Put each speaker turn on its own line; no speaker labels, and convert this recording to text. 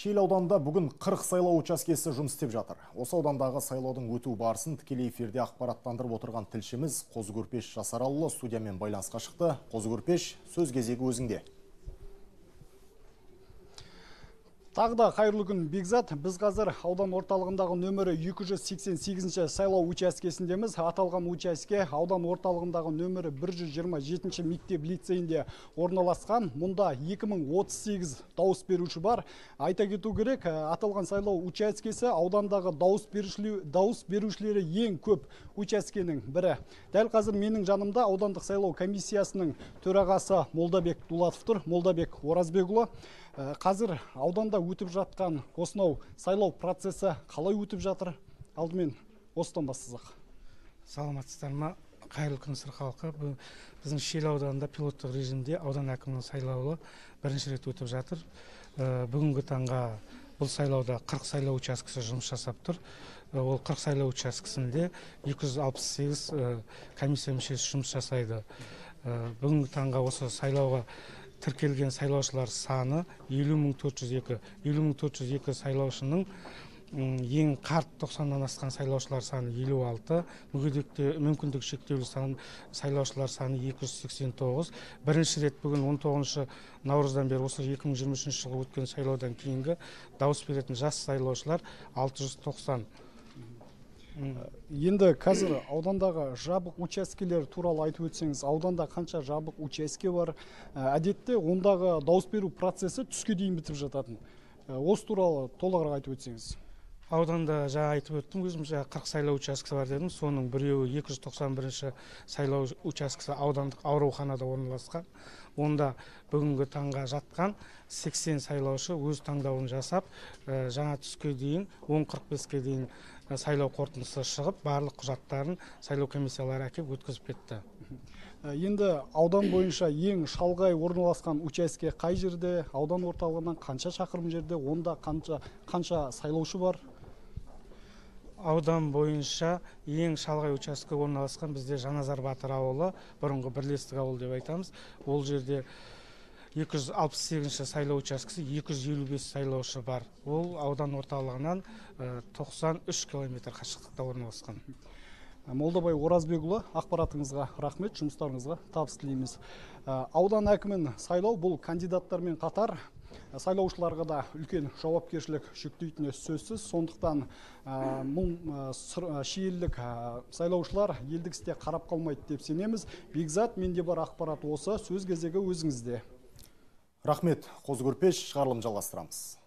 Шиелі ауданында бүгін 40 сайлау учаскесі жұмыс істеп жатыр. Осы аудандағы сайлаудың өту барысын тікелей эфирде ақпараттандырып отырған тілшіміз Қозы-Көрпеш Жасаралыұлы студиямен байланысқа шықты. Қозы-Көрпеш, сөз кезегі өзіңде.
Тағы да қайырлы күн, Бекзат. Біз қазір аудан орталығындағы нөмірі 288 сайлау учаскесіндеміз. Аталған учаске аудан орталығындағы нөмірі 127 мектеп лицейінде орналасқан. Мұнда 2038 дауыс беруші бар. Айта кету керек, аталған сайлау учаскесі аудандағы дауыс берушілері ең көп учаскенің бірі. Дәл қазір менің жанымда аудандық сайлау комиссиясының төрағасы Молдабек Дулатов тұр. Молдабек Оразбекұлы, қазір ауданда өтіп жатқан осынау сайлау процесі қалай өтіп жатыр? Алдымен осыдан бастасақ.
Саламатсыздар ма? Қайырлы күн сыр халқы. Біздің Шиелі ауданында пилоттық режимде аудан әкімінің сайлауы бірінші рет өтіп жатыр. Бүгінгі таңға бұл сайлауда 40 сайлау учаскесі жұмыс жасап тұр. Ол 40 сайлау учаскесінде 268 комиссия мүшесі жұмыс жасайды. Бүгінгі таңға осы сайлауға тіркелген сайлаушылар саны 50.402. 50.402 сайлаушының ең қарт 90-нан асқан сайлаушылар саны 56, мүмкіндік шектеулі сайлаушылар саны 289. Бірінші рет бүгін 19 наурыздан бері осы 2023 жылғы өткен сайлаудан кейінгі дауыс беретін жас сайлаушылар 690.
Енді қазір аудандағы жабық учаскелер туралы айтып өтсеңіз, ауданда қанша жабық учаске бар? Әдетте ондағы дауыс беру процесі түске дейін бітіп жататын. Осы туралы толығырақ айтып өтсеңіз.
Ауданда жаңа айтып өттім, өзім 40 сайлау учаскесі бар дедім. Соның біреуі 291 сайлау учаскесі аудандық ауруханада орналасқан. Онда бүгінгі таңға жатқан 80 сайлаушы өз таңдауын жасап, жаңа түске дейін 10:45-ке дейін сайлау қорытындысы шығып, барлық құжаттарын сайлау комиссиялары әкеп өткізіп кетті.
Енді аудан бойынша ең шалғай орналасқан учаске қай жерде? Аудан орталығынан қанша шақырым жерде? Онда қанша сайлаушы бар?
Аудан бойынша ең шалғай учаске орналасқан бізде Жаназар Батыр ауылы, бұрынғы бірлестік ауыл деп айтамыз. Ол жерде 268 сайлау учаскесі 255 сайлаушы бар. Ол аудан орталығынан 93 километр қашықтықта орналасқан.
Молдабай Оразбекұлы, ақпаратыңызға рахмет, жұмыстарыңызға табыс тілейміз. Аудан әкімін сайлау бұл кандидаттармен қатар сайлаушыларға да үлкен жауапкершілік жүктейтіні сөзсіз. Сондықтан шиелілік сайлаушылар елдік істе қарап қалмайды деп сенеміз. Бекзат, менде бар ақпарат осы. Сөз кезегі өзіңізде.
Рахмет, Қозы-Көрпеш, шығарылым жалғастырамыз.